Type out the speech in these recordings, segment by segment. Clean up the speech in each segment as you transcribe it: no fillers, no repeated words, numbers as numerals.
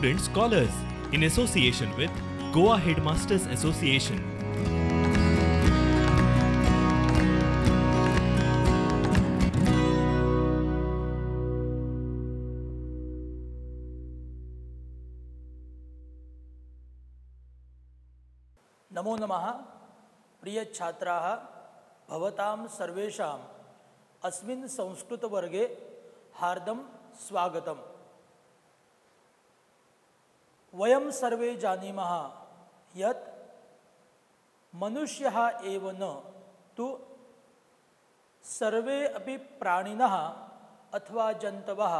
student scholars in association with Goa Headmasters Association. नमो नमः प्रिय छात्राः भवतां सर्वेषाम् अस्मिन् संस्कृतवर्गे हार्दं स्वागतम्। वयं सर्वे जानीमः यत् मनुष्यः एव न तु सर्वे अपि प्राणिनः अथवा जन्तवः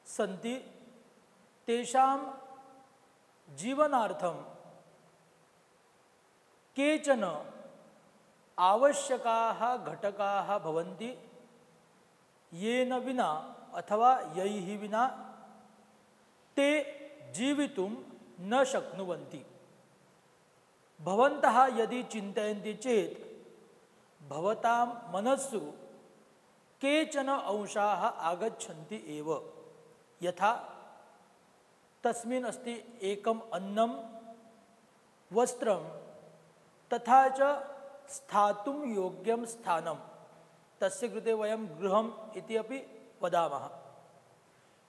सन्ति, तेषां जीवनार्थं केचन आवश्यकाः घटकाः भवन्ति, येन विना अथवा यैः विना ते जीवितुं न शक्नुवन्ति। भवन्तः यदि चिन्तयन्ति चेत् भवतां मनस्सु केचन अंशाः आगच्छन्ति एव, यथा तस्मिन् अस्ति एकम् अन्नं, वस्त्रं, तथा च स्थातुं योग्यं स्थानं, तस्य कृते वयं गृहम् इति अपि वदामः।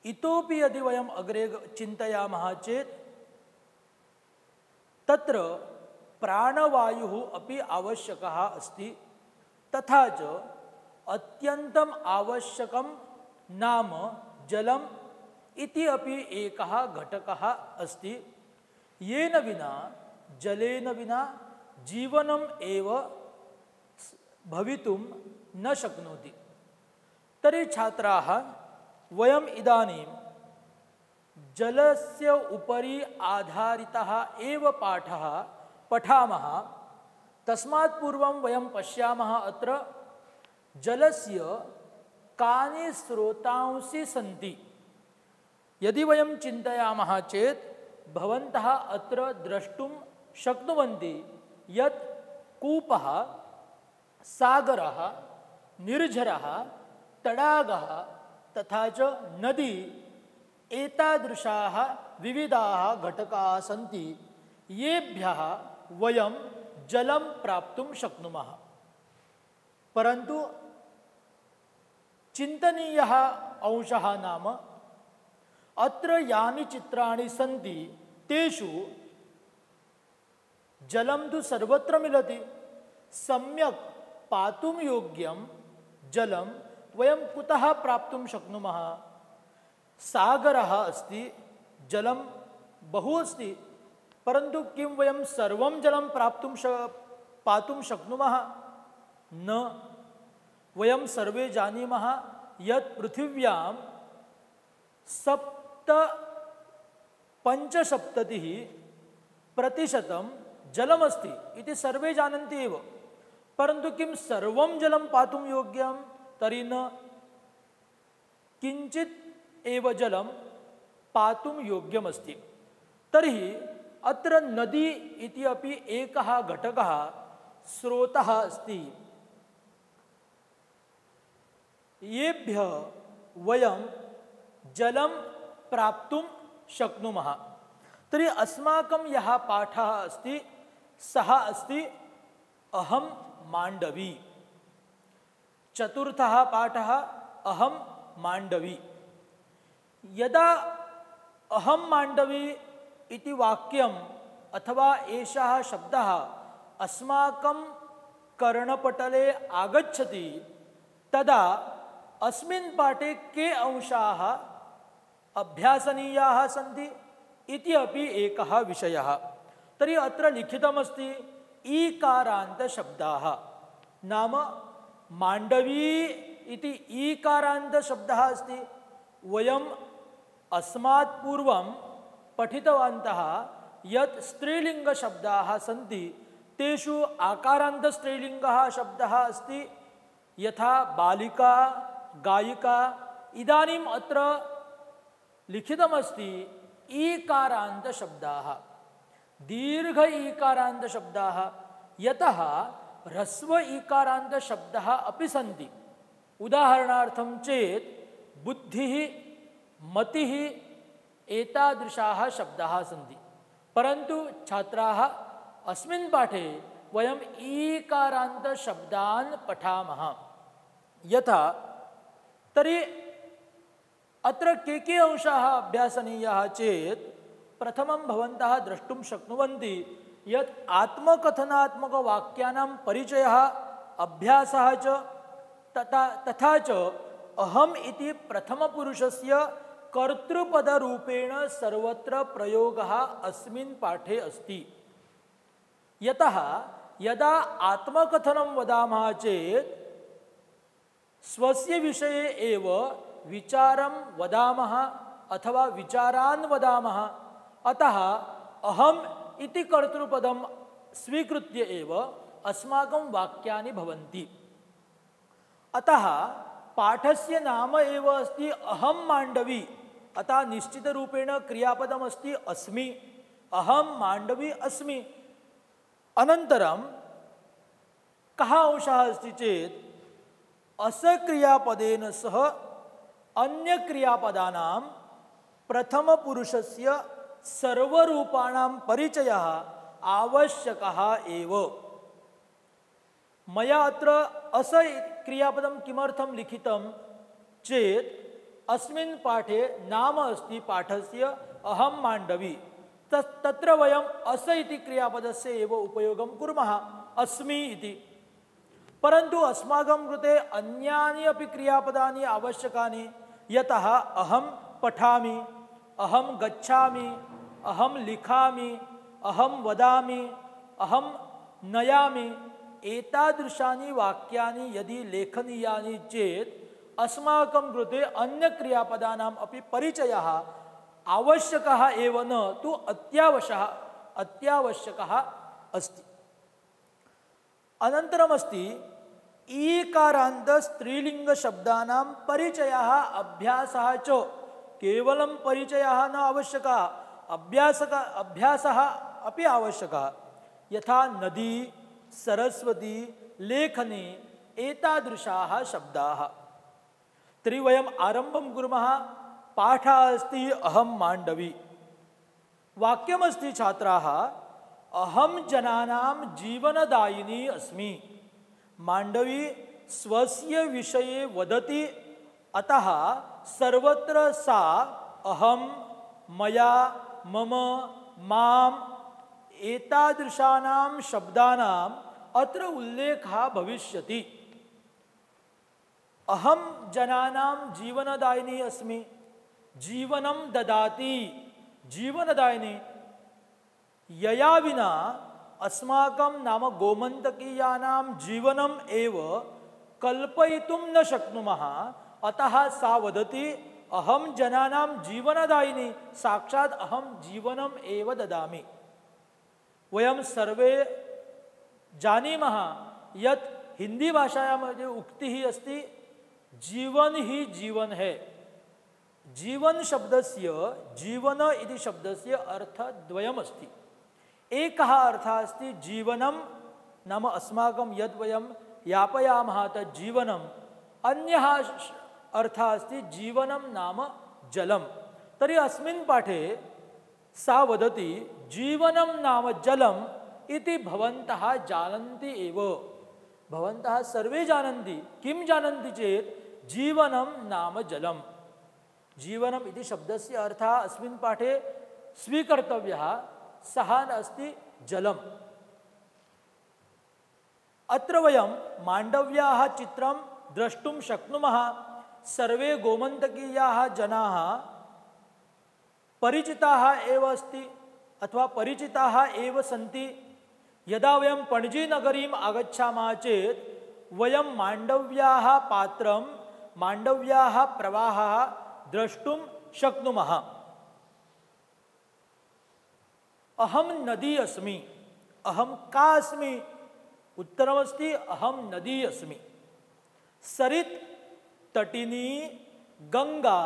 इतोपि यदि वयम् अग्रे चिन्तयामः चेत् तत्र प्राणवायुः अपि आवश्यकः अस्ति, तथा च अत्यन्तम् आवश्यकं नाम जलम् इति अपि एकः घटकः अस्ति, येन विना जलेन विना जीवनम् एव भवितुं न शक्नोति। तर्हि छात्राः, वयम् इदानीं जलस्य उपरि आधारितः एव पाठः पठामः। तस्मात् पूर्वं वयं पश्यामः अत्र जलस्य कानि स्रोतांसि सन्ति। यदि वयं चिन्तयामः चेत् भवन्तः अत्र द्रष्टुं शक्नुवन्ति यत् कूपः, सागरः, निर्झरः, तडागः तथा च नदी एतादृशाः विविधाः घटकाः सन्ति, येभ्यः वयं जलं प्राप्तुं शक्नुमः। परन्तु चिन्तनीयः अंशः नाम अत्र यानि चित्राणि सन्ति तेषु जलं तु सर्वत्र मिलति, सम्यक् पातुं योग्यं जलं वयं कुतः प्राप्तुं शक्नुमः? सागरः अस्ति, जलं बहु अस्ति, परन्तु किं वयं सर्वं जलं पातुं शक्नुमः? न। वयं सर्वे जानीमः यत् पृथिव्यां 75% जलमस्ति इति सर्वे जानन्ति एव, परन्तु किं सर्वं जलं पातुं योग्यं? तर्हि न। किञ्चित् एव जलं पातुं योग्यमस्ति। तर्हि अत्र नदी इति अपि एकः घटकः, स्रोतः अस्ति, येभ्यः वयं जलं प्राप्तुं शक्नुमः। तर्हि अस्माकं यः पाठः अस्ति सः अस्ति अहं माण्डवी। चतुर्थः पाठः अहं माण्डवी। यदा अहं माण्डवी इति वाक्यम् अथवा एषः शब्दः अस्माकं कर्णपटले आगच्छति, तदा अस्मिन् पाठे के अंशाः अभ्यासनीयाः सन्ति इति अपि एकः विषयः। तर्हि अत्र लिखितमस्ति ईकारान्तशब्दाः, नाम माण्डवी इति ईकारान्तशब्दः अस्ति। वयम् अस्मात् पूर्वं पठितवन्तः यत् स्त्रीलिङ्गशब्दाः सन्ति, तेषु आकारान्तस्त्रीलिङ्गः शब्दः अस्ति, यथा बालिका, गायिका। इदानीम् अत्र लिखितमस्ति ईकारान्तशब्दाः, दीर्घ ईकारान्तशब्दाः, यतः ह्रस्व ईकारान्तशब्दाः अपि सन्ति। उदाहरणार्थं चेत् बुद्धिः, मतिः, एतादृशाः शब्दाः सन्ति। परन्तु छात्राः अस्मिन् पाठे वयम् ईकारान्तशब्दान् पठामः। यथा तर्हि अत्र के अंशाः अभ्यासनीयाः चेत् प्रथमं भवन्तः द्रष्टुं शक्नुवन्ति यत् आत्मकथनात्मकवाक्यानां परिचयः अभ्यासः च तथा च अहम् इति प्रथमपुरुषस्य कर्तृपदरूपेण सर्वत्र प्रयोगः अस्मिन् पाठे अस्ति। यतः यदा आत्मकथनं वदामः चेत् स्वस्य विषये एव विचारं वदामः अथवा विचारान् वदामः। अतः अहम् इति कर्तृपदं स्वीकृत्य एव अस्माकं वाक्यानि भवन्ति। अतः पाठस्य नाम एव अस्ति अहं माण्डवी। अतः निश्चितरूपेण क्रियापदमस्ति अस्मि, अहं माण्डवी अस्मि। अनन्तरं कः अंशः अस्ति चेत् असक्रियापदेन सह अन्यक्रियापदानां प्रथमपुरुषस्य सर्वरूपाणां परिचयः आवश्यकः एव। मया अत्र अस क्रियापदं किमर्थं लिखितं चेत् अस्मिन् पाठे नाम अस्ति पाठस्य अहं माण्डवी। तत्र वयम् अस इति क्रियापदस्य एव उपयोगं कुर्मः, अस्मि इति। परन्तु अस्माकं कृते अन्यानि अपि क्रियापदानि आवश्यकानि। यतः अहं पठामि, अहं गच्छामि, अहं लिखामि, अहं वदामि, अहं नयामि। एतादृशानि वाक्यानि यदि लेखनीयानि चेत् अस्माकं कृते अन्यक्रियापदानाम् अपि परिचयः आवश्यकः एव न तु अत्यावश्यकः अस्ति। अनन्तरमस्ति ईकारान्त स्त्रीलिङ्गशब्दानां परिचयः अभ्यासः च। केवलं परिचयः न आवश्यकः, अभ्यासः अपि आवश्यकः। यथा नदी, सरस्वती, लेखनी एतादृशाः शब्दाः। तर्हि वयम् आरम्भं कुर्मः। पाठः अस्ति अहं माण्डवी। वाक्यमस्ति छात्राः, अहं जनानां जीवनदायिनी अस्मि। माण्डवी स्वस्य विषये वदति, अतः सर्वत्र सा अहं, मया, मम, माम् एतादृशानां शब्दानाम् अत्र उल्लेखः भविष्यति। अहं जनानां जीवनदायिनी अस्मि। जीवनं ददाति, जीवनदायिनी। यया विना अस्माकं नाम गोमन्तकीयानां जीवनम् एव कल्पयितुं न शक्नुमः। अतः सा वदति अहं जनानां जीवनदायिनी, साक्षात् अहं जीवनम् एव ददामि। वयं सर्वे जानीमः यत् हिंदी भाषायां मध्ये उक्तिः अस्ति, जीवन ही जीवन है। जीवन शब्दस्य, जीवन इति शब्दस्य अर्थद्वयमस्ति। एकः अर्थः अस्ति जीवनं नाम अस्माकं यद् वयं यापयामः तत् जीवनम्। अन्यः अर्थः अस्ति जीवनं नाम जलं। तर्हि अस्मिन् पाठे सा वदति जीवनं नाम जलम् इति भवन्तः जानन्ति एव। भवन्तः सर्वे जानन्ति। किं जानन्ति चेत् जीवनं नाम जलम्। जीवनम् इति शब्दस्य अर्थः अस्मिन् पाठे स्वीकर्तव्यः, सः अस्ति जलम्। अत्र वयं माण्डव्याः चित्रं द्रष्टुं शक्नुमः। सर्वे गोमन्तकीयाः जनाः परिचिताः एव अस्ति अथवा परिचिताः एव सन्ति। यदा वयं पणजीनगरीम् आगच्छामः चेत् वयं माण्डव्याः पात्रं, माण्डव्याः प्रवाहः द्रष्टुं शक्नुमः। अहं नदी अस्मि। अहं का अस्मि? उत्तरमस्ति अहं नदी अस्मि। सरित्, तटिनी, गंगा,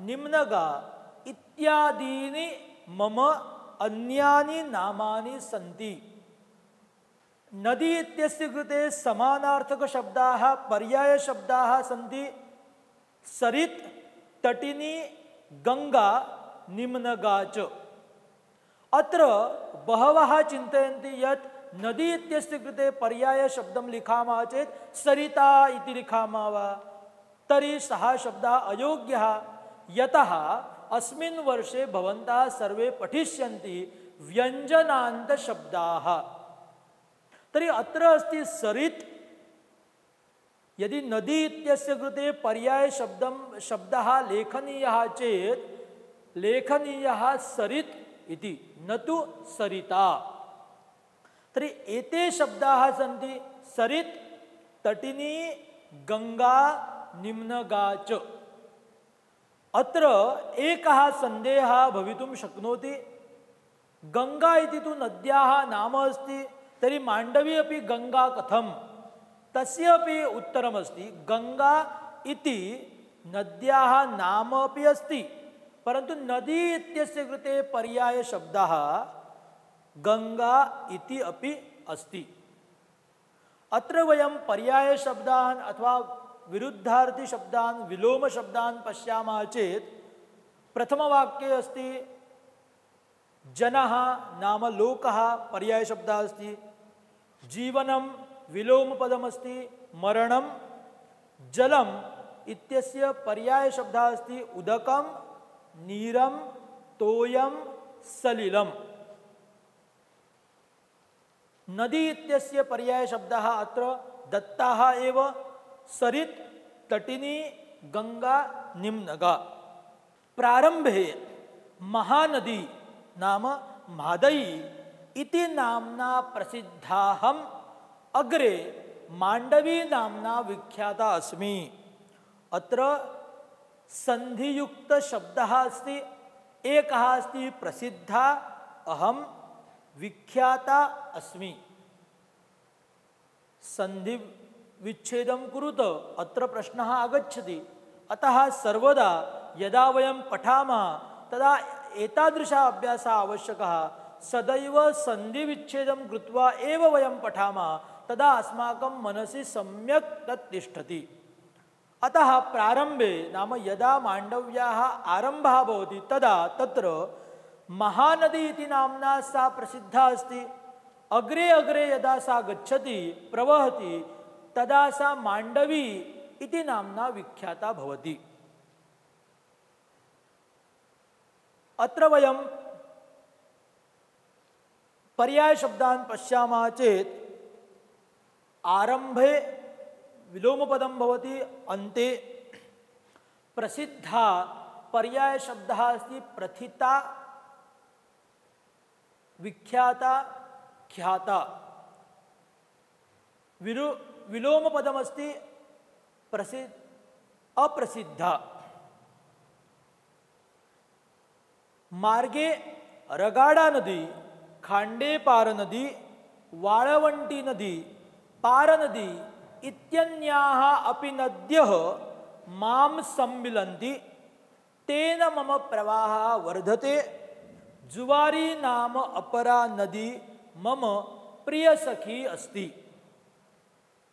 निम्नगा इत्यादीनि मम अन्यानि नामानि सन्ति। नदी इत्यस्य कृते समानार्थकशब्दाः, पर्यायशब्दाः सन्ति। सरित्, तटिनी, गंगा निम्नगा च। अत्र बहवः चिन्तयन्ति यत् नदी इत्यस्य कृते पर्याय शब्दं लिखामः चेत् सरिता इति लिखामः वा, तर्हि सः शब्दः अयोग्यः, यतः अस्मिन् वर्षे भवन्तः सर्वे पठिष्यन्ति व्यञ्जनान्त शब्दाः। तर्हि अत्र अस्ति सरित्। यदि नदी इत्यस्य कृते पर्याय शब्दः लेखनीयः चेत् लेखनीयः सरित् इति, न तु सरिता। तर्हि एते शब्दाः सन्ति सरित्, तटिनी, गंगा, निम्नगा च। अत्र एकः सन्देहः भवितुं शक्नोति, गंगा इति तु नद्याः नाम अस्ति, तर्हि माण्डवी अपि गंगा कथं? तस्य अपि उत्तरमस्ति, गंगा इति नद्याः नाम अपि अस्ति, परन्तु नदी इत्यस्य कृते पर्याय शब्दः गंगा इति अपि अस्ति। अत्र वयं पर्याय शब्दान् अथवा विरुद्धार्थी शब्दान्, विलोम शब्दान् पश्यामः चेत् प्रथमवाक्ये अस्ति जनः नाम लोकः पर्याय शब्दः अस्ति, जीवनं विलोमपदमस्ति, मरणं, जलम् इत्यस्य पर्याय शब्दः अस्ति उदकं, नीरं, तोयं, सलिलम्। नदी इत्यस्य पर्याय शब्दः अत्र दत्ताः एव, सरित्, तटिनी, गंगा, निम्नगा। प्रारंभे महानदी नाम मादयी इति नाम्ना प्रसिद्धाहम्, अग्रे माण्डवी नाम्ना विख्याता अस्मि। अत्र संधियुक्त शब्दः अस्ति, एकः अस्ति प्रसिद्धा, अहं विख्याता अस्मि। संधि विच्छेदं कुरुत अत्र प्रश्नः आगच्छति। अतः सर्वदा यदा वयं पठामः तदा एतादृशः अभ्यासः आवश्यकः। सदैव संधि विच्छेदं कृत्वा एव वयं पठामः, तदा अस्माकं मनसि सम्यक् तत् तिष्ठति। अतः प्रारम्भे नाम यदा माण्डव्याः आरम्भः भवति तदा तत्र महानदी इति नाम्ना सा प्रसिद्धा अस्ति। अग्रे अग्रे यदा सा गच्छति, प्रवहति, तदा सा माण्डवी इति नाम्ना विख्याता भवति। अत्र वयं पर्याय शब्दान् पश्यामः चेत् आरम्भे विलोमपदं भवति, अन्ते प्रसिद्धा पर्याय शब्दः अस्ति प्रथिता, विख्याता, ख्याता। विलोमपदमस्ति अप्रसिद्धा। मार्गे रगाडा नदी, खांडेपार नदी, वाळवंटी नदी, पार नदी इत्यन्याः अपि नद्यः मां सम्मिलन्ति, तेन मम प्रवाहः वर्धते। जुवारी नाम अपरा नदी मम प्रियसखी अस्ति।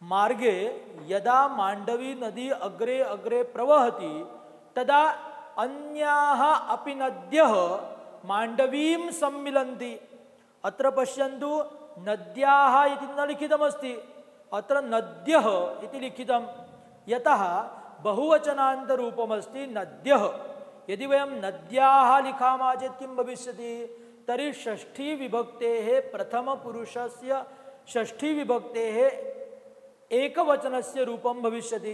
मार्गे यदा माण्डवी नदी अग्रे अग्रे प्रवहति तदा अन्याः अपि नद्यः माण्डवीं सम्मिलन्ति। अत्र पश्यन्तु, नद्याः इति न लिखितमस्ति, अत्र नद्यः इति लिखितं, यतः बहुवचनान्तरूपमस्ति नद्यः। यदि वयं नद्याः लिखामः चेत् किं भविष्यति? तर्हि षष्ठी विभक्तेः प्रथमपुरुषस्य षष्ठी विभक्तेः एकवचनस्य रूपं भविष्यति।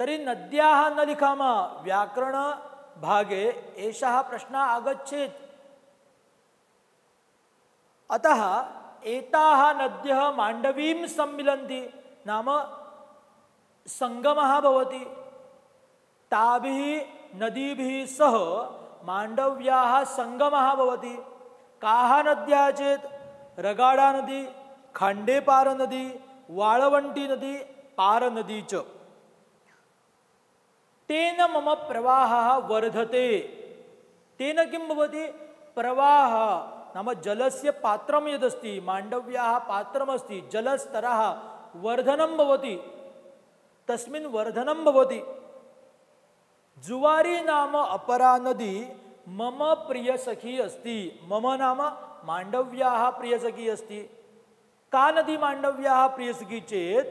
तर्हि नद्याः न लिखामः, व्याकरणभागे एषः प्रश्नः आगच्छेत्। अतः एताः नद्यः माण्डवीं सम्मिलन्ति नाम संगमः भवति। ताभिः नदीभिः सह माण्डव्याः संगमः भवति। काः नद्यः चेत् रगाडा नदी, खांडेपार नदी, वाळवंटी नदी, पार नदी च। तेन मम प्रवाहः वर्धते। तेन किं भवति? प्रवाहः नाम जलस्य पात्रं यदस्ति, माण्डव्याः पात्रमस्ति, जलस्तरः वर्धनं भवति, तस्मिन् वर्धनं भवति। जुवारी नाम अपरा नदी मम प्रिय सखी अस्ति। मम नाम मांडव्याः प्रिय सखी अस्ति। का नदी मांडव्याः प्रिय सखी चेत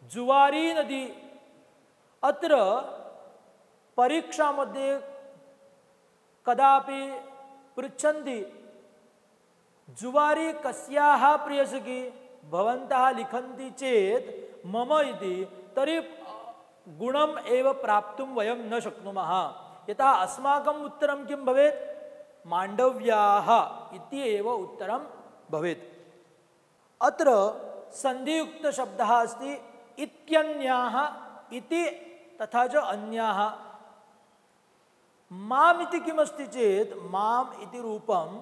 जुवारी नदी। अत्र परीक्षा मध्ये कदापि पृच्छन्ति जुवारी कस्याः प्रिय सखी भवन्तः लिखन्ति चेत मम इति, तर्हि गुणम् एव प्राप्तुं वयं न शक्नुमः। यथा अस्माकम् उत्तरं किं भवेत्, मांडव्याः इति एव उत्तरं भवेत्। अत्र संधियुक्त शब्दः अस्ति इत्यन्याः इति तथा च अन्याः। माम् इति किमस्ति चेत् माम् इति रूपम्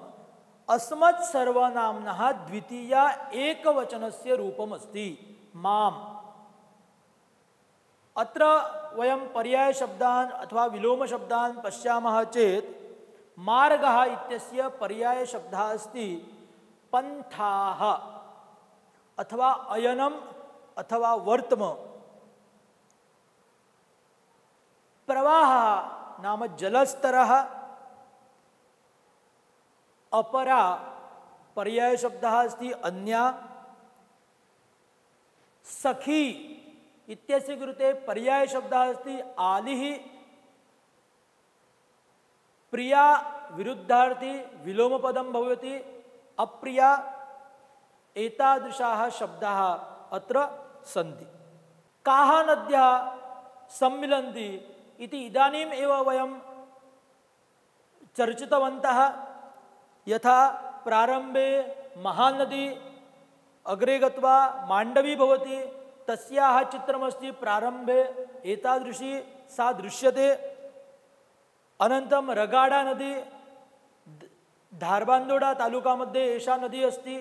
अस्मत् सर्वनाम्नः द्वितीया एकवचनस्य रूपमस्ति माम्। अत्र वयं पर्याय शब्दान् अथवा विलोम शब्दान् पश्यामः चेत् मार्गः इत्यस्य पर्याय शब्दः अस्ति पन्थाः अथवा अयनम् अथवा वर्त्म। प्रवाहः नाम जलस्तरः। अपरा पर्याय शब्दः अस्ति अन्या। सखी इत्यस्य कृते पर्याय शब्दः अस्ति आलिः। प्रिया विरुद्धार्थी विलोमपदं भवति अप्रिया। एतादृशाः शब्दाः अत्र सन्ति। काः नद्यः सम्मिलन्ति इति इदानीम् एव वयं चर्चितवन्तः। यथा प्रारम्भे महानदी अग्रे गत्वा मांडवी भवति, तस्याः चित्रमस्ति प्रारम्भे एतादृशी सा दृश्यते। अनन्तरं रगाडा नदी धारबांदोडा तालुका मध्ये एषा नदी अस्ति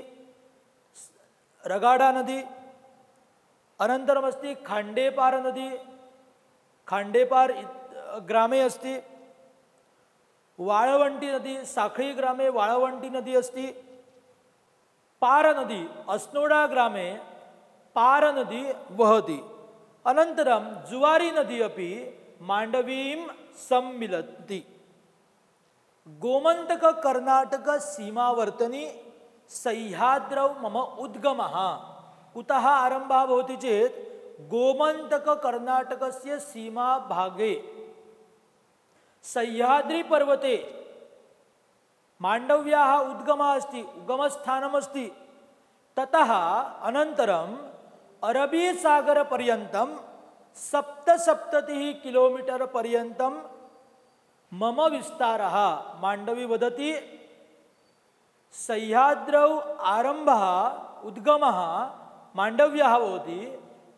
रगाडा नदी। अनन्तरमस्ति खांडेपार नदी, खांडेपार ग्रामे अस्ति। वाळवंटी नदी साखळी ग्रामे वाळवंटी नदी अस्ति। पार नदी अस्नोडा ग्रामे पार नदी वहति। अनन्तरं जुवारी नदी अपि मांडवीं सम्मिलति। गोमंतक कर्नाटक सीमावर्तनी सह्याद्रौ मम उद्गमः। कुतः आरम्भः भवति चेत् गोमंतक कर्नाटकस्य सीमा भागे सह्याद्री पर्वते मांडव्याः उद्गमः अस्ति, उगमस्थानमस्ति। ततः अनन्तरम् अरबी सागर पर्यन्तं 77 किलोमीटर पर्यन्तं मम विस्तारः। मांडवी वदति सह्याद्रौ आरम्भः उद्गमः मांडव्याः भवति,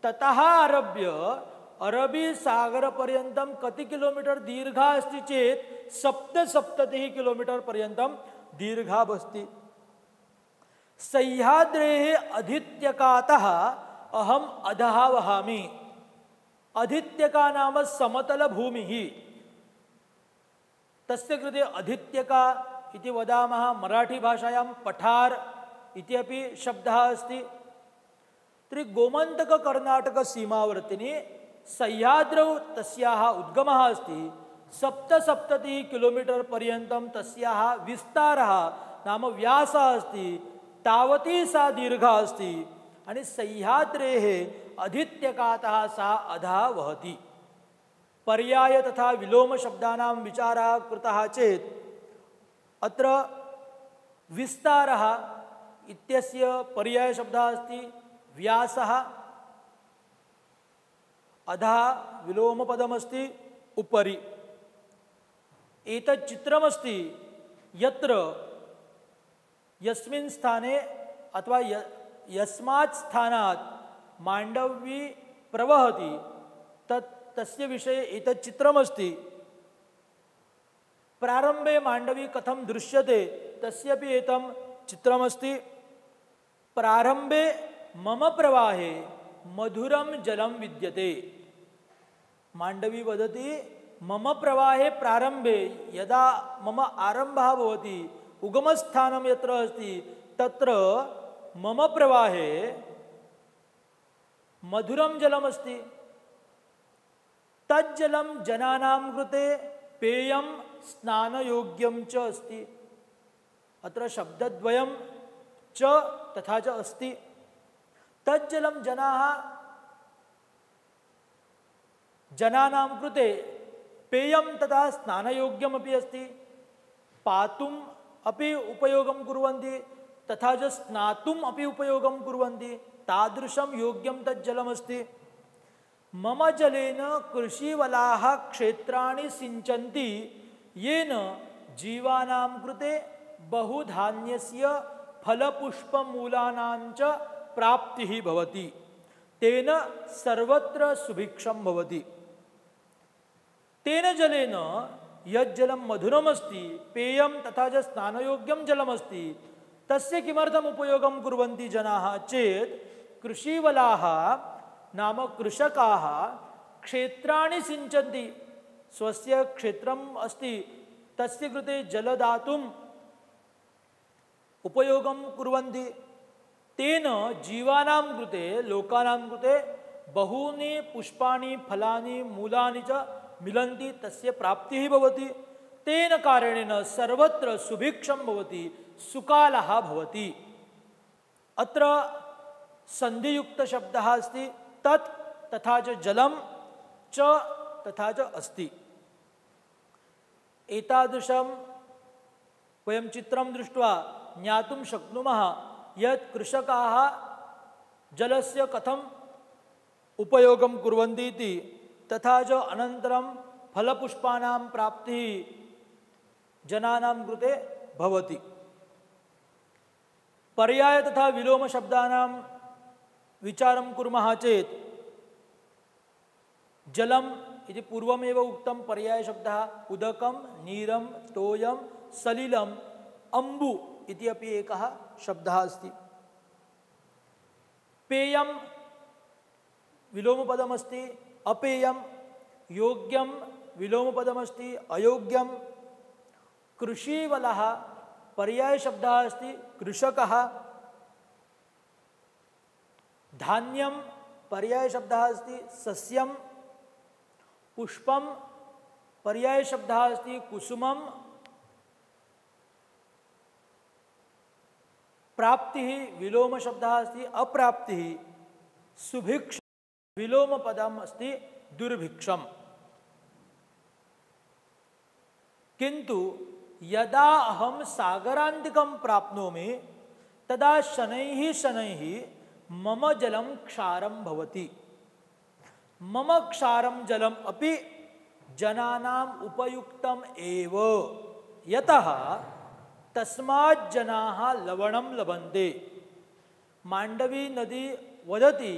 ततः आरभ्य अरबी सागर पर्यन्तं कति किलोमीटर दीर्घा अस्ति चेत् 77 किलोमीटर पर्यन्तं दीर्घा अस्ति। सह्याद्रेः अधित्यकातः अहम अधः वहामि। अधित्यका नाम समतल भूमिः। तस्य कृते अधित्यका इति वदामः। मराठी भाषायां पठार इति अपि शब्दः अस्ति। तर्हि गोमन्तक कर्नाटक सीमावर्तिनी सह्याद्रौ तस्याः उद्गमः अस्ति। 77 किलोमीटर पर्यन्तं तस्याः विस्तारः नाम व्यासः अस्ति। तावती सा दीर्घा अस्ति आणि सह्याद्रेः अधित्यकातः सा अधः वहति। पर्याय तथा विलोम शब्दानां विचारः कृतः चेत् अत्र विस्तारः इत्यस्य पर्याय शब्दः अस्ति व्यासः। अधः विलोमपदमस्ति उपरि। एतत् चित्रमस्ति यत्र यस्मिन् स्थाने अथवा यस्मात् स्थानात् मांडवी प्रवहति तस्य विषये एतत् चित्रमस्ति। प्रारम्भे मांडवी कथं दृश्यते तस्यापि एतं चित्रमस्ति। प्रारम्भे मम प्रवाहे मधुरं जलं विद्यते। मांडवी वदति मम प्रवाहे प्रारम्भे यदा मम आरम्भः भवति उगमस्थानं यत्र अस्ति तत्र मम प्रवाहे मधुरं जलमस्ति। तज्जलं जनानां कृते पेयं स्नानयोग्यं च अस्ति। अत्र शब्दद्वयं च तथा च अस्ति। तज्जलं जनानां कृते पेयं तथा स्नानयोग्यमपि अस्ति। पातुम् अपि उपयोगं कुर्वन्ति तथा च स्नातुम् अपि उपयोगं कुर्वन्ति। तादृशं योग्यं तज्जलमस्ति। मम जलेन कृषिवलाः क्षेत्राणि सिञ्चन्ति येन जीवानां कृते बहुधान्यस्य फलपुष्पमूलानां च प्राप्तिः भवति। तेन सर्वत्र सुभिक्षं भवति। तेन जलेन यज्जलं मधुरमस्ति, पेयं तथा च स्नानयोग्यं जलमस्ति, तस्य किमर्थम् उपयोगं कुर्वन्ति जनाः चेत् कृषिवलाः नाम कृषकाः क्षेत्राणि सिञ्चन्ति। स्वस्य क्षेत्रम् अस्ति, तस्य कृते जलदातुम् उपयोगं कुर्वन्ति। तेन जीवानां कृते, लोकानां कृते बहूनि पुष्पाणि, फलानि, मूलानि च मिलन्ति, तस्य प्राप्तिः भवति। तेन कारणेन सर्वत्र सुभिक्षं भवति, सुकालः भवति। अत्र सन्धियुक्तशब्दः अस्ति। तत् तथा च जलं च तथा च अस्ति। एतादृशं वयं चित्रं दृष्ट्वा ज्ञातुं शक्नुमः यत् कृषकाः जलस्य कथम् उपयोगं कुर्वन्ति इति, तथा च अनन्तरं फलपुष्पाणां प्राप्तिः जनानां कृते भवति। पर्याय तथा विलोम शब्दानां विचारं कुर्मः चेत् जलम् इति पूर्वमेव उक्तं पर्याय शब्दः, उदकं, नीरं, तोयं, सलिलम्, अम्बु इति अपि एकः शब्दः अस्ति। पेयं विलोमपदमस्ति, अपेयं, योग्यं विलोमपदमस्ति, अयोग्यं। कृषिवलः पर्याय शब्दः अस्ति, कृषकः। धान्यं पर्याय शब्दः अस्ति, सस्यं। पुष्पं पर्याय शब्दः अस्ति, कुसुमं। प्राप्तिः विलोम शब्दः अस्ति, अप्राप्तिः। सुभिक्ष विलोम पदम् अस्ति, दुर्भिक्षम्। किन्तु यदा अहं सागरान्तिकं प्राप्नोमि तदा शनैः शनैः मम जलं क्षारं भवति। मम क्षारं जलम् अपि जनानाम् उपयुक्तम् एव, यतः तस्मात् जनाः लवणं लभन्ते। माण्डवी नदी वदति,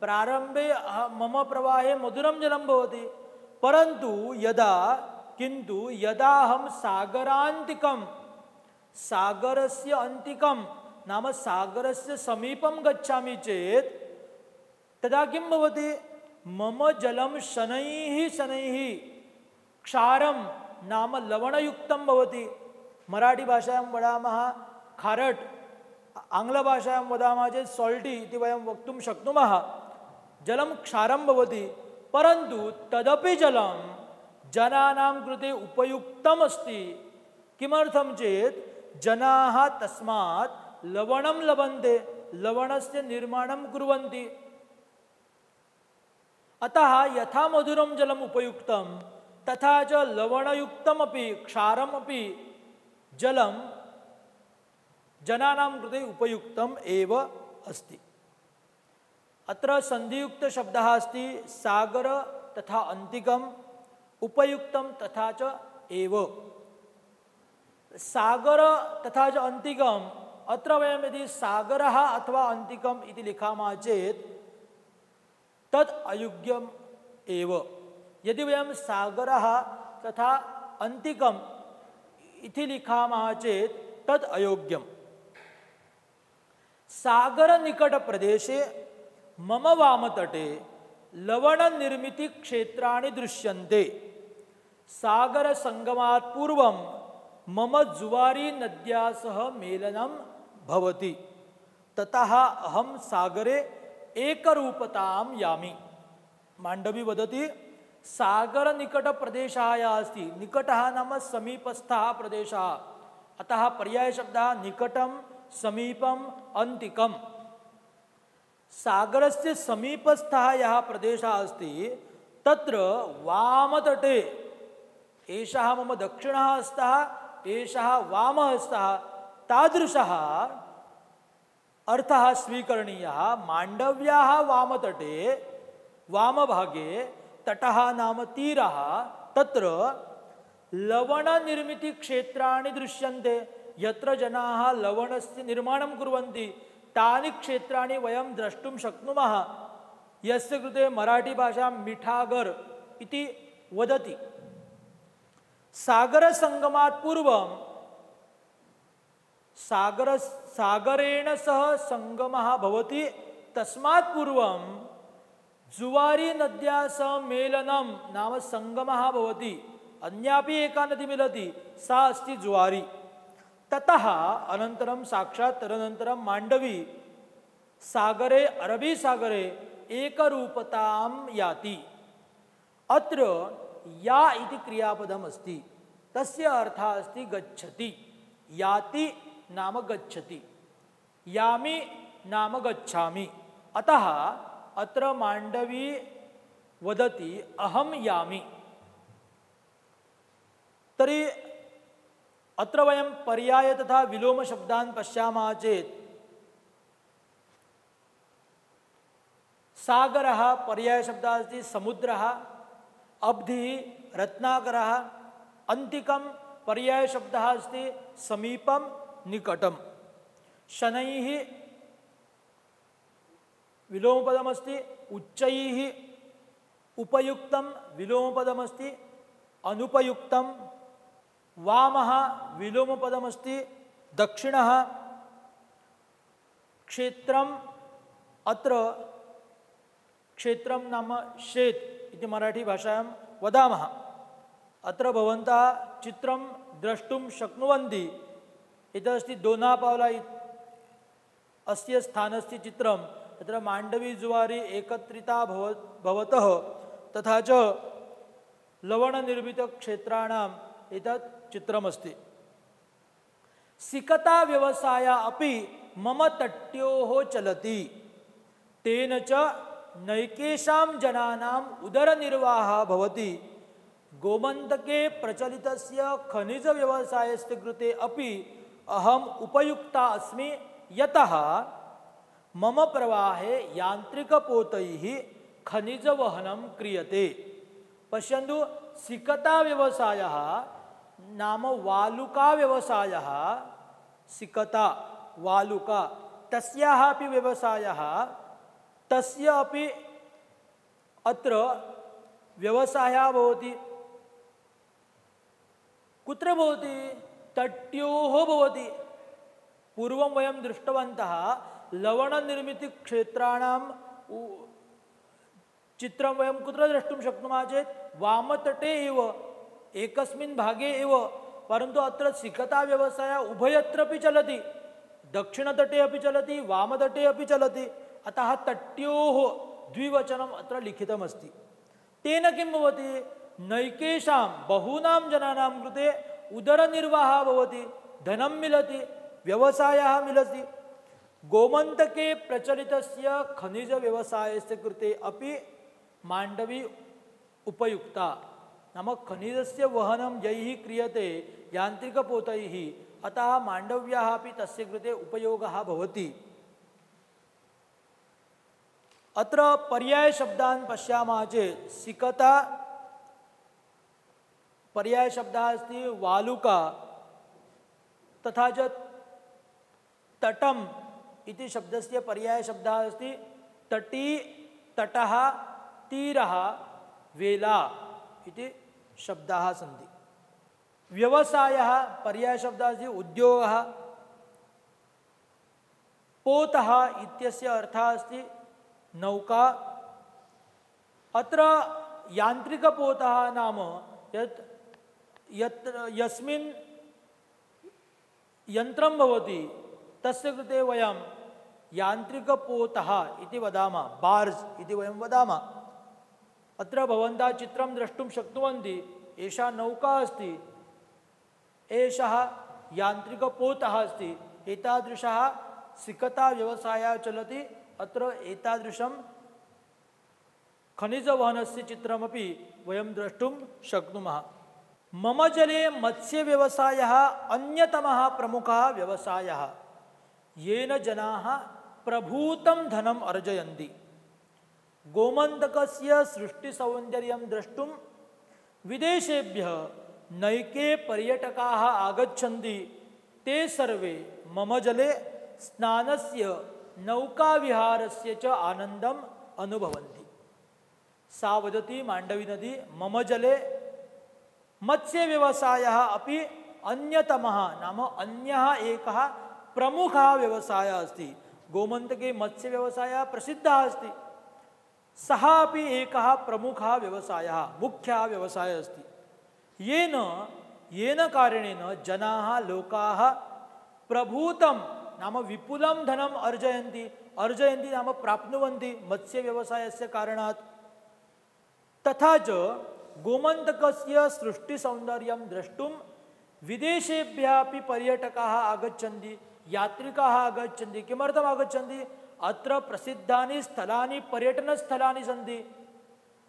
प्रारम्भे मम प्रवाहे मधुरं जलं भवति, परन्तु किन्तु यदा अहं सागरान्तिकं, सागरस्य अन्तिकं नाम सागरस्य समीपं गच्छामि चेत् तदा किं भवति? मम जलं शनैः शनैः क्षारं नाम लवणयुक्तं भवति। मराठीभाषायां वदामः खारट्, आङ्ग्लभाषायां वदामः चेत् साल्टी इति वयं वक्तुं शक्नुमः। जलं क्षारं भवति, परन्तु तदपि जलं जनानां कृते उपयुक्तम् अस्ति। किमर्थं चेत् जनाः तस्मात् लवणं लभन्ते, लवणस्य निर्माणं कुर्वन्ति। अतः यथा मधुरं जलम् उपयुक्तं तथा च लवणयुक्तमपि क्षारमपि जलं जनानां कृते उपयुक्तम् एव अस्ति। अत्र सन्धियुक्तशब्दः अस्ति, सागर तथा अन्तिकम्, उपयुक्तं तथा च एव। सागर तथा च अन्तिकम्, अत्र वयं यदि सागरः अथवा अन्तिकम् इति लिखामः चेत् तत् अयोग्यम् एव। यदि वयं सागरः तथा अन्तिकम् इति लिखामः चेत् तत् अयोग्यम्। सागरनिकटप्रदेशे मम वामतटे लवणनिर्मितक्षेत्राणि दृश्यन्ते। सागरसंगमात् पूर्वं मम जुवारी नद्या सह मेलनं भवति, ततः अहं सागरे एकरूपतां यामि। माण्डवी वदति, सागरनिकटप्रदेशः यः अस्ति, निकटः नाम समीपस्थः प्रदेशः, अतः पर्यायशब्दः निकटं, समीपम्, अन्तिकं। सागरस्य समीपस्थः यः प्रदेशः अस्ति तत्र वामतटे, एषः मम दक्षिणः हस्तः, एषः वामः हस्तः, तादृशः अर्थः स्वीकरणीयः। माण्डव्याः वामतटे, वामभागे तटः नाम तीरः, तत्र लवणनिर्मितक्षेत्राणि दृश्यन्ते। यत्र जनाः लवणस्य निर्माणं कुर्वन्ति तानि क्षेत्राणि वयं द्रष्टुं शक्नुमः, यस्य कृते मराठीभाषां मिठागर इति वदति। सागरसङ्गमात् पूर्वं सागरेण सह सङ्गमः भवति, तस्मात् पूर्वं जुवारी नद्या सह मेलनं नाम सङ्गमः भवति। अन्यापि एका नदी मिलति, सा अस्ति जुवारी। ततः अनन्तरं साक्षात् तदनन्तरं माण्डवी सागरे, अरबी सागरे एकरूपतां याति। अत्र या इति क्रियापदम् अस्ति, तस्य अर्थः अस्ति गच्छति। याति नाम गच्छति, यामि नाम गच्छामि। अतः अत्र माण्डवी वदति अहं यामि। तर्हि अत्र वयं पर्याय तथा विलोम शब्दान् पश्यामः चेत् सागरः पर्यायशब्दः अस्ति समुद्रः, अब्धिः रत्नाकरः, अन्तिकं पर्यायशब्दः अस्ति समीपं निकटं। शनैः विलोमपदमस्ति, उच्चैः उपयुक्तं विलोमपदमस्ति, अनुपयुक्तं। वामः विलोमपदमस्ति, दक्षिणः। क्षेत्रम्, अत्र क्षेत्रं नाम शेत् इति मराठीभाषायां वदामः। अत्र भवन्तः चित्रं द्रष्टुं शक्नुवन्ति। एतदस्ति दोनापावला अस्य स्थानस्य चित्रं। तत्र माण्डवी जुवारी एकत्रिता भवतः, तथा च लवणनिर्मितक्षेत्राणाम् एतत् चित्रमस्ति। सिकता व्यवसाय अपि मम तट्योः चलति, तेन च नैकेषां जनानाम् उदरनिर्वाहः भवति। गोमन्तके प्रचलितस्य खनिजव्यवसायस्य कृते अपि अहम् उपयुक्ता अस्मि, यतः मम प्रवाहे यान्त्रिकपोतैः खनिजवहनं क्रियते। पश्यन्तु, सिकता व्यवसायः नाम वालुका व्यवसायः, सिकता वालुका, तस्याः अपि व्यवसायः, तस्य अपि अत्र व्यवसायः भवति। कुत्र भवति? तट्योः भवति। पूर्वं वयं दृष्टवन्तः लवणनिर्मितक्षेत्राणां चित्रं वयं कुत्र द्रष्टुं शक्नुमः चेत् वामतटे एव, एकस्मिन् भागे एव। परन्तु अत्र सिकता व्यवसायः उभयत्रपि चलति, दक्षिणतटे अपि चलति, वामतटे अपि चलति। अतः तट्योः द्विवचनम् अत्र लिखितमस्ति। तेन किं भवति? नैकेषां बहूनां जनानां कृते उदरनिर्वाहः भवति, धनं मिलति, व्यवसायः मिलति। गोमन्तके प्रचलितस्य खनिजव्यवसायस्य कृते अपि माण्डवी उपयुक्ता। नाम खनिजस्य वहनं यैः क्रियते यान्त्रिकपोतैः, अतः माण्डव्याः अपि तस्य कृते उपयोगः भवति। अत्र पर्यायशब्दान् पश्यामः चेत् सिकता पर्यायशब्दः अस्ति वालुका, तथा च तटम् इति शब्दस्य पर्यायशब्दः अस्ति तटी, तटः, तीरः, वेला इति शब्दाः सन्ति। व्यवसायः पर्यायशब्दः अस्ति उद्योगः। पोतः इत्यस्य अर्थः अस्ति नौका। अत्र यान्त्रिकपोतः नाम यस्मिन् यन्त्रं भवति तस्य कृते वयं यान्त्रिकपोतः इति वदामः, बार्ज् इति वयं वदामः। अत्र भवन्तः चित्रं द्रष्टुं शक्नुवन्ति। एषा नौका अस्ति, एषः यान्त्रिकपोतः अस्ति। एतादृशः सिकता व्यवसायः चलति। अत्र एतादृशं खनिजवहनस्य चित्रमपि वयं द्रष्टुं शक्नुमः। मम जले मत्स्यव्यवसायः अन्यतमः प्रमुखः व्यवसायः, येन जनाः प्रभूतं धनम् अर्जयन्ति। गोमन्तकस्य सृष्टिसौन्दर्यं द्रष्टुं विदेशेभ्यः नैके पर्यटकाः आगच्छन्ति। ते सर्वे मम जले स्नानस्य नौकाविहारस्य च आनन्दम् अनुभवन्ति। सा वदति माण्डवी नदी, मम जले मत्स्यव्यवसायः अपि अन्यतमः नाम अन्यः एकः प्रमुखः व्यवसायः अस्ति। गोमन्तके मत्स्यव्यवसायः प्रसिद्धः अस्ति, सः अपि एकः प्रमुखः व्यवसायः, मुख्यः व्यवसायः अस्ति। येन कारणेन जनाः लोकाः प्रभूतं नाम विपुलं धनम् अर्जयन्ति नाम प्राप्नुवन्ति मत्स्यव्यवसायस्य कारणात्। तथा च गोमन्तकस्य सृष्टिसौन्दर्यं द्रष्टुं विदेशेभ्यः अपि पर्यटकाः आगच्छन्ति, यात्रिकाः आगच्छन्ति। किमर्थम् आगच्छन्ति? अत्र प्रसिद्धानि स्थलानि, पर्यटनस्थलानि सन्ति,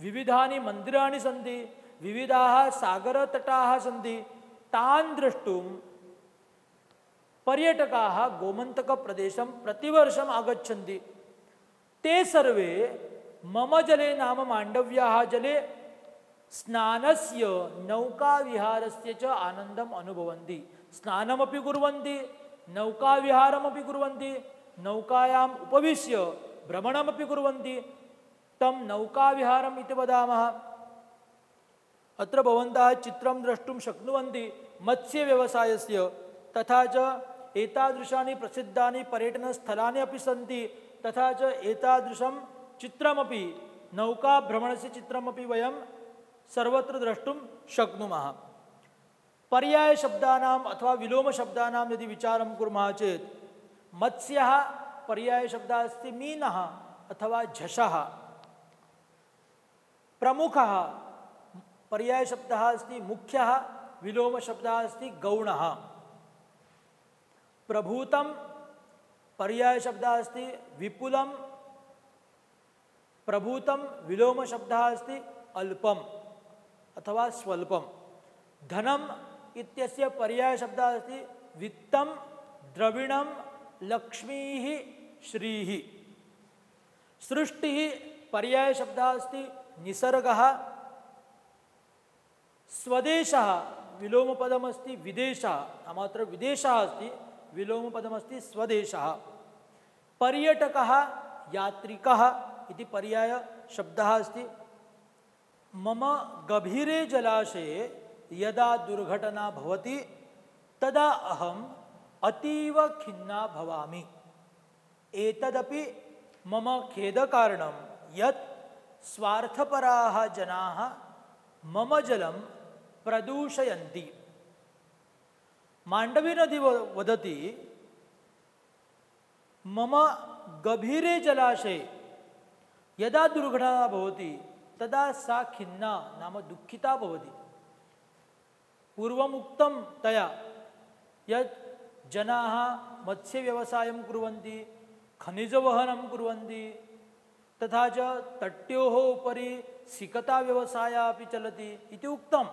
विविधानि मन्दिराणि सन्ति, विविधाः सागरतटाः सन्ति। तान् द्रष्टुं पर्यटकाः गोमन्तकप्रदेशं प्रतिवर्षम् आगच्छन्ति। ते सर्वे मम जले नाम माण्डव्याः जले स्नानस्य नौकाविहारस्य च आनन्दम् अनुभवन्ति। स्नानमपि कुर्वन्ति, नौकाविहारमपि कुर्वन्ति, नौकायाम् उपविश्य भ्रमणमपि कुर्वन्ति। तं नौकाविहारम् इति वदामः। अत्र भवन्तः चित्रं द्रष्टुं शक्नुवन्ति मत्स्यव्यवसायस्य। तथा च एतादृशानि प्रसिद्धानि पर्यटनस्थलानि अपि सन्ति। तथा च एतादृशं चित्रमपि, नौकाभ्रमणस्य चित्रमपि वयं सर्वत्र द्रष्टुं शक्नुमः। पर्यायशब्दानाम् अथवा विलोमशब्दानां यदि विचारं कुर्मः चेत् मत्स्यः पर्यायशब्दः अस्ति मीनः अथवा झषः। प्रमुखः पर्यायशब्दः अस्ति मुख्यः, विलोमशब्दः अस्ति गौणः। प्रभूतं पर्यायशब्दः अस्ति विपुलं, प्रभूतं विलोमशब्दः अस्ति अल्पम् अथवा स्वल्पं। धनम् इत्यस्य पर्यायशब्दः अस्ति वित्तं, द्रविणं, लक्ष्मीः, श्रीः। सृष्टिः पर्यायशब्दः अस्ति निसर्गः। स्वदेशः विलोमपदमस्ति विदेशः, नाम अत्र विदेशः अस्ति, विलोमपदमस्ति स्वदेशः। पर्यटकः यात्रिकः इति पर्यायशब्दः अस्ति। मम गभीरे जलाशये यदा दुर्घटना भवति तदा अहम् अतीव खिन्ना भवामि। एतदपि मम खेदकारणं यत् स्वार्थपराः जनाः मम जलं प्रदूषयन्ति। माण्डवी नदी वदति, मम गभीरे जलाशये यदा दुर्घटना भवति तदा सा खिन्ना नाम दुःखिता भवति। पूर्वमुक्तं तया यत् जनाः मत्स्यव्यवसायं कुर्वन्ति, खनिजवहनं कुर्वन्ति, तथा च तट्योः उपरि सिकताव्यवसायः अपि चलति इति उक्तं।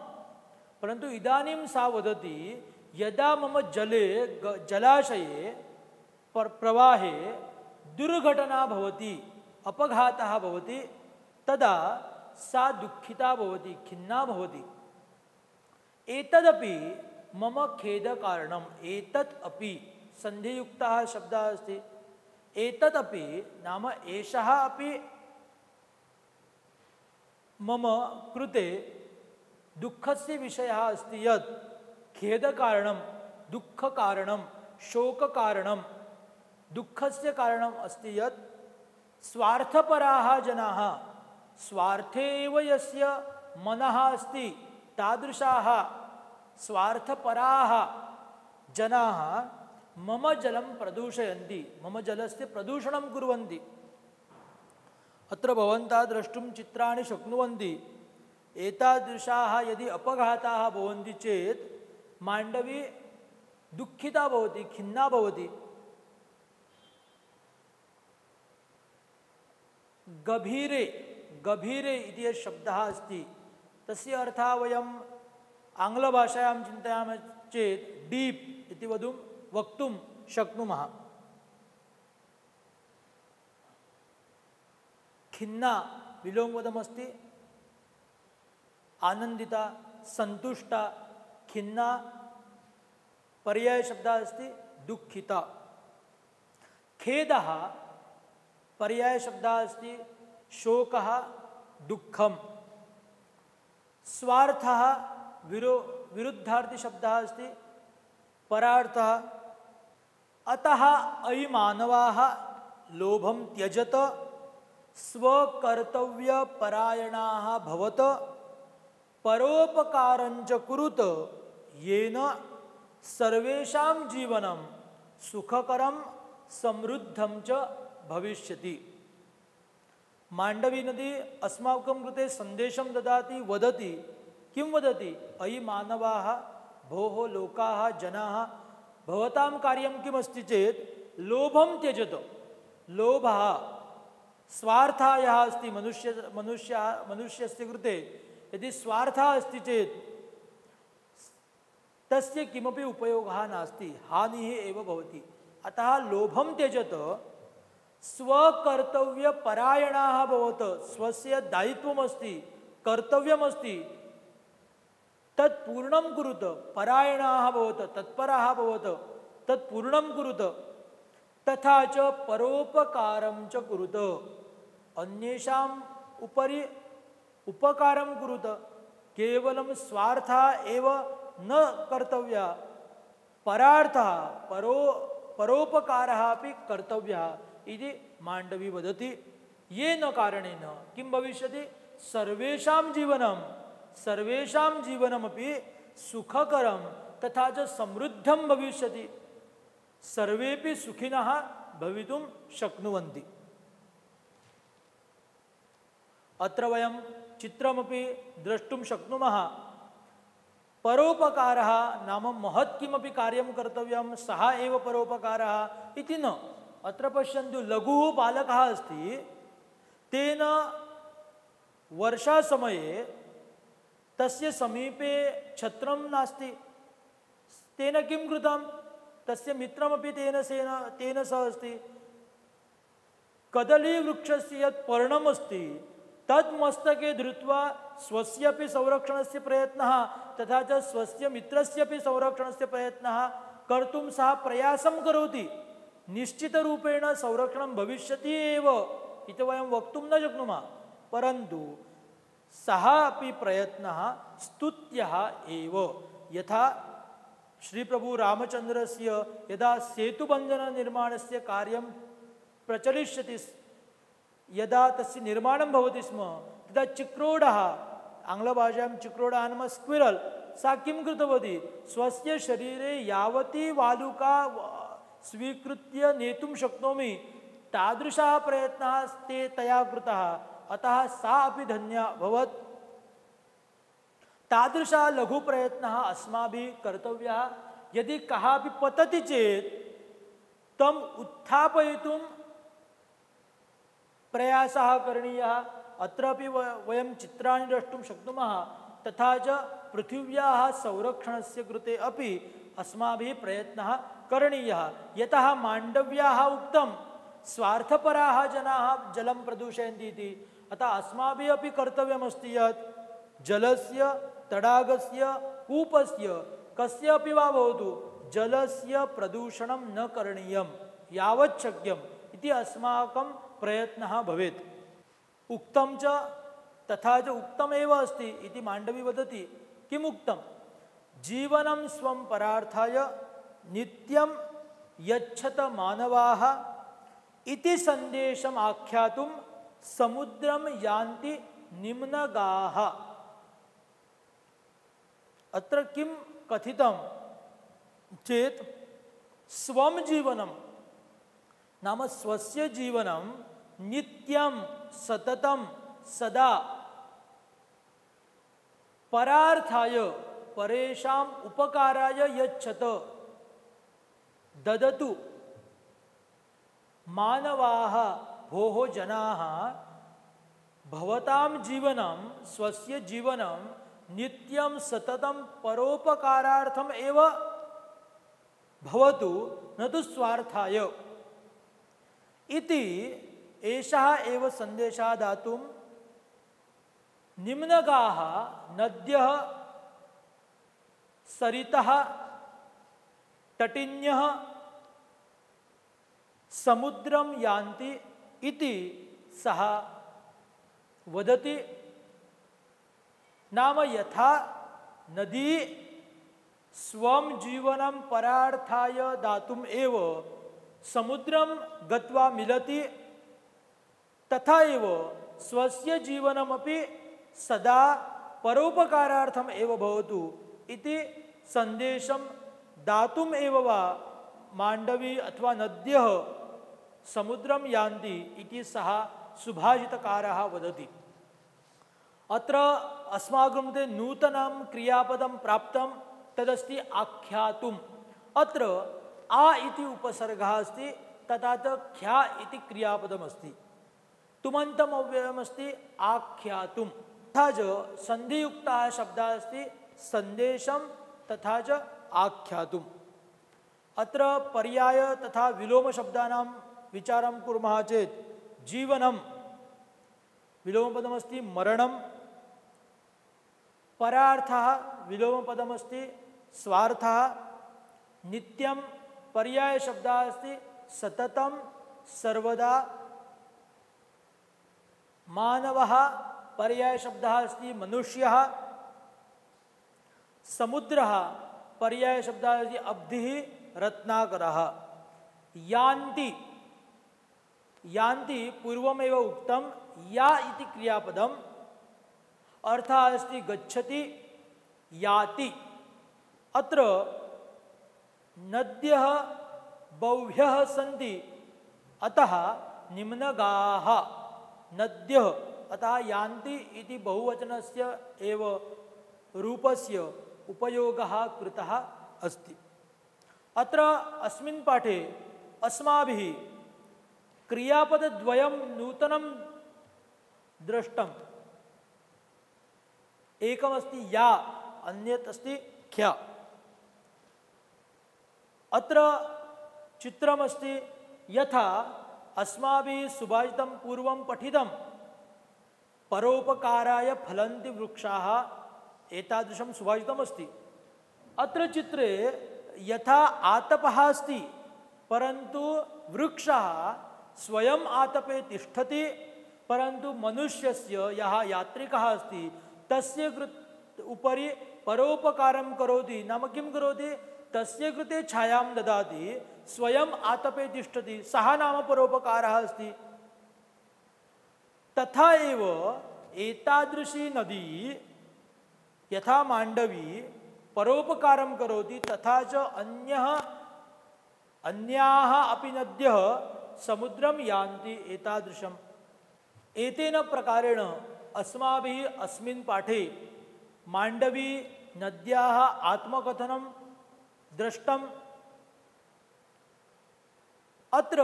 परन्तु इदानीं सा वदति, यदा मम जलाशये प्रवाहे दुर्घटना भवति, अपघातः भवति, तदा सा दुःखिता भवति, खिन्ना भवति। एतदपि मम खेदकारणम्। एतत् अपि सन्धियुक्तः शब्दः अस्ति। एतत् अपि नाम एषः अपि मम कृते दुःखस्य विषयः अस्ति यत् खेदकारणं, दुःखकारणं, शोककारणं, दुःखस्य कारणम् अस्ति यत् स्वार्थपराः जनाः, स्वार्थे एव यस्य मनः अस्ति तादृशाः स्वार्थपराः जनाः मम जलं प्रदूषयन्ति, मम जलस्य प्रदूषणं कुर्वन्ति। अत्र भवन्तः द्रष्टुं चित्राणि शक्नुवन्ति। एतादृशाः यदि अपघाताः भवन्ति चेत् माण्डवी दुःखिता भवति, खिन्ना भवति। गभीरे गभीरे इति यः शब्दः अस्ति तस्य अर्थः वयम् आङ्ग्लभाषायां चिन्तयामः चेत् डीप् इति वक्तुं शक्नुमः। खिन्ना विलोमपदमस्ति, आनन्दिता, सन्तुष्टा, खिन्ना पर्यायशब्दः अस्ति दुःखिता। खेदः पर्यायशब्दः अस्ति शोकः, दुःखम्। स्वार्थः विरुद्धार्थशब्दः अस्ति परार्थः। अतः अयि मानवाः लोभं त्यजत, स्वकर्तव्यपरायणाः भवत, परोपकारञ्च कुरुत, येन सर्वेषां जीवनं सुखकरं समृद्धं च भविष्यति। माण्डवी नदी अस्माकं कृते सन्देशं ददाति, वदति। किं वदति? अयि मानवाः, भोः लोकाः, जनाः, भवतां कार्यं किमस्ति चेत् लोभं त्यजत। लोभः स्वार्थः यः अस्ति मनुष्यस्य कृते, यदि स्वार्थः अस्ति चेत् तस्य किमपि उपयोगः नास्ति, हानिः एव भवति। अतः लोभं त्यजत, स्वकर्तव्यपरायणाः भवत। स्वस्य दायित्वमस्ति, कर्तव्यमस्ति, तत् पूर्णं कुरुत। परायणाः भवत, तत्पराः भवत, तत् पूर्णं कुरुत। तथा च परोपकारं च कुरुत, अन्येषाम् उपरि उपकारं कुरुत। केवलं स्वार्थः एव न कर्तव्यः, परार्थः परोपकारः अपि कर्तव्यः इति माण्डवी वदति। येन कारणेन किं भविष्यति? सर्वेषां जीवनमपि सुखकरं तथा च समृद्धं भविष्यति। सर्वेपि सुखिनः भवितुं शक्नुवन्ति। अत्र वयं चित्रमपि द्रष्टुं शक्नुमः। परोपकारः नाम महत् किमपि कार्यं कर्तव्यं सः एव परोपकारः इति न। अत्र पश्यन्तु, लघुः बालकः अस्ति, तेन वर्षासमये तस्य समीपे छत्रं नास्ति। तेन किं कृतं? तस्य मित्रमपि तेन सह अस्ति। कदलीवृक्षस्य यत् पर्णमस्ति तत् मस्तके धृत्वा स्वस्यपि संरक्षणस्य प्रयत्नः तथा च स्वस्य मित्रस्यपि संरक्षणस्य प्रयत्नः कर्तुं सः प्रयासं करोति। निश्चितरूपेण संरक्षणं भविष्यति एव इति वयं वक्तुं न शक्नुमः, परन्तु सः अपि प्रयत्नः स्तुत्यः एव। यथा श्रीप्रभु रामचन्द्रस्य यदा सेतुबन्धननिर्माणस्य कार्यं प्रचलिष्यति, यदा तस्य निर्माणं भवति स्म, तदा चिक्रोडः, आङ्ग्लभाषायां चिक्रोडः नाम स्क्विरल्, सा किं कृतवती? स्वस्य शरीरे यावती वालुका स्वीकृत्य नेतुं शक्नोमि तादृशः प्रयत्नः तया कृतः। अतः सा अपि धन्या अभवत्। तादृशः लघुप्रयत्नः अस्माभिः कर्तव्यः। यदि कः अपि पतति चेत् तम् उत्थापयितुं प्रयासः करणीयः। अत्रापि वयं चित्राणि द्रष्टुं शक्नुमः। तथा च पृथिव्याः संरक्षणस्य कृते अपि अस्माभिः प्रयत्नः करणीयः। यतः माण्डव्याः उक्तं स्वार्थपराः जनाः जलं प्रदूषयन्ति इति, अतः अस्माभिः अपि कर्तव्यमस्ति यत् जलस्य, तडागस्य, कूपस्य, कस्यापि वा भवतु, जलस्य प्रदूषणं न करणीयं यावत् शक्यम् इति अस्माकं प्रयत्नः भवेत्। उक्तं च तथा च उक्तमेव अस्ति इति माण्डवी वदति। किम् उक्तं? जीवनं स्वं परार्थाय नित्यं यच्छत मानवाः इति सन्देशम् आख्यातुं समुद्रं यान्ति निम्नगाः। अत्र किं कथितं चेत् स्वं जीवनं नाम स्वस्य जीवनं नित्यं सततं सदा परार्थाय परेषाम् उपकाराय यच्छत ददतु मानवाः भोः जनाः भवतां जीवनं स्वस्य जीवनं नित्यं सततं परोपकारार्थम् एव भवतु न तु स्वार्थाय इति एषः एव सन्देशः दातुं निम्नगाः नद्यः सरितः तटिन्यः समुद्रं यान्ति इति सः वदति। नाम यथा नदी स्वं जीवनं परार्थाय दातुम् एव समुद्रं गत्वा मिलति, तथा एव स्वस्य जीवनमपि सदा परोपकारार्थम् एव भवतु इति सन्देशं दातुम् एव वा माण्डवी अथवा नद्यः समुद्रं यान्ति इति सः सुभाषितकारः वदति। अत्र अस्माकं कृते नूतनं क्रियापदं प्राप्तं, तदस्ति आख्यातुम्। अत्र आ इति उपसर्गः अस्ति, तथा च ख्या इति क्रियापदमस्ति, तुमन्तम् अव्ययमस्ति आख्यातुम्। तथा च सन्धियुक्तः शब्दः अस्ति सन्देशं तथा च आख्यातुम्। अत्र पर्याय तथा विलोम शब्दानां विचारं कुर्मः चेत् जीवनं विलोमपदमस्ति मरणं, परार्थः विलोमपदमस्ति स्वार्थः, नित्यं पर्याय शब्दः अस्ति सततं सर्वदा, मानवः पर्याय शब्दः अस्ति मनुष्यः, समुद्रः पर्याय शब्दः अस्ति अब्धिः रत्नाकरः। यान्ति, यान्ति पूर्वमेव उक्तं या इति क्रियापदम्, अर्थः अस्ति गच्छति याति। अत्र नद्यः बह्व्यः सन्ति, अतः निम्नगाः नद्यः, अतः यान्ति इति बहुवचनस्य एव रूपस्य उपयोगः कृतः अस्ति। अत्र अस्मिन् पाठे अस्माभिः क्रियापदद्वयं नूतनं दृष्टम्। एकमस्ति या, अन्यत् अस्ति ख्या। अत्र चित्रमस्ति यथा अस्माभिः सुभाषितं पूर्वं पठितं परोपकाराय फलन्ति वृक्षाः, एतादृशं सुभाषितमस्ति। अत्र चित्रे यथा आतपः अस्ति, परन्तु वृक्षः स्वयं आतपे तिष्ठति, परन्तु मनुष्यस्य यः यात्रिकः अस्ति तस्य उपरि परोपकारं करोति। नाम किं करोति? तस्य कृते छायां ददाति, स्वयं आतपे तिष्ठति, सः नाम परोपकारः अस्ति। तथा एव एतादृशी नदी यथा माण्डवी परोपकारं करोति, तथा च अन्याः अपि नद्यः समुद्रं यान्ति एतादृशम्। एतेन प्रकारेण अस्माभिः अस्मिन् पाठे माण्डवी नद्याः आत्मकथनं दृष्टम्। अत्र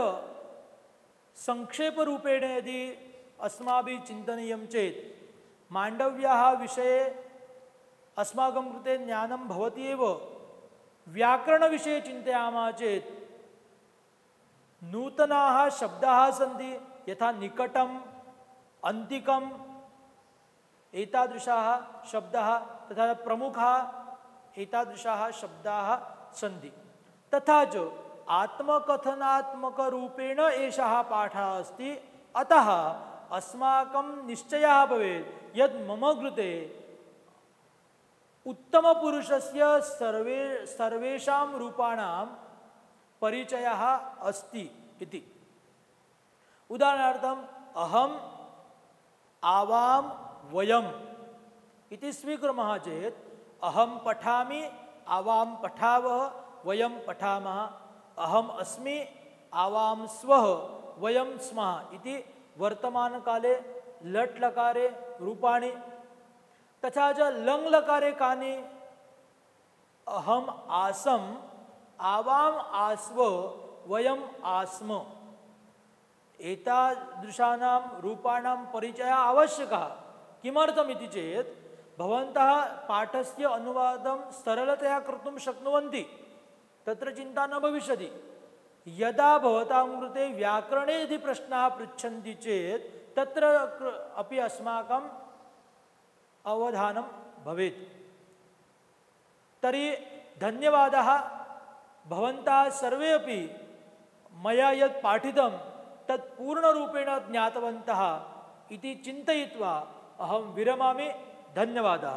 संक्षेपरूपेण यदि अस्माभिः चिन्तनीयं चेत् माण्डव्याः विषये अस्माकं कृते ज्ञानं भवति एव। व्याकरणविषये चिन्तयामः चेत् नूतनाः शब्दाः सन्ति, यथा निकटम्, अन्तिकम्, एतादृशाः शब्दाः, तथा प्रमुखाः, एतादृशाः शब्दाः सन्ति। तथा च आत्मकथनात्मकरूपेण एषः पाठः अस्ति। अतः अस्माकं निश्चयः भवेत् यत् मम कृते उत्तमपुरुषस्य सर्वेषां रूपाणां परिचयः अस्ति इति। उदाहरणार्थम् अहम्, आवां, वयम् इति स्वीकुर्मः चेत् अहं पठामि, आवां पठावः, वयं पठामः, अहम् अस्मि, आवां स्वः, वयं स्मः इति वर्तमानकाले लट् लकारे रूपाणि तथा च लङ् लकारे कानि अहम् आसम् आवाम् आस्व वयम् आस्म एतादृशानां रूपाणां परिचयः आवश्यकः। किमर्थमिति चेत् भवन्तः पाठस्य अनुवादं सरलतया कर्तुं शक्नुवन्ति, तत्र चिन्ता न भविष्यति। यदा भवतां कृते व्याकरणे यदि प्रश्नाः पृच्छन्ति चेत् तत्र अपि अस्माकम् अवधानं भवेत्। तर्हि धन्यवादः। भवन्तः सर्वे अपि मया यत् पाठितं तत् पूर्णरूपेण ज्ञातवन्तः इति चिन्तयित्वा अहं विरमामि। धन्यवादः।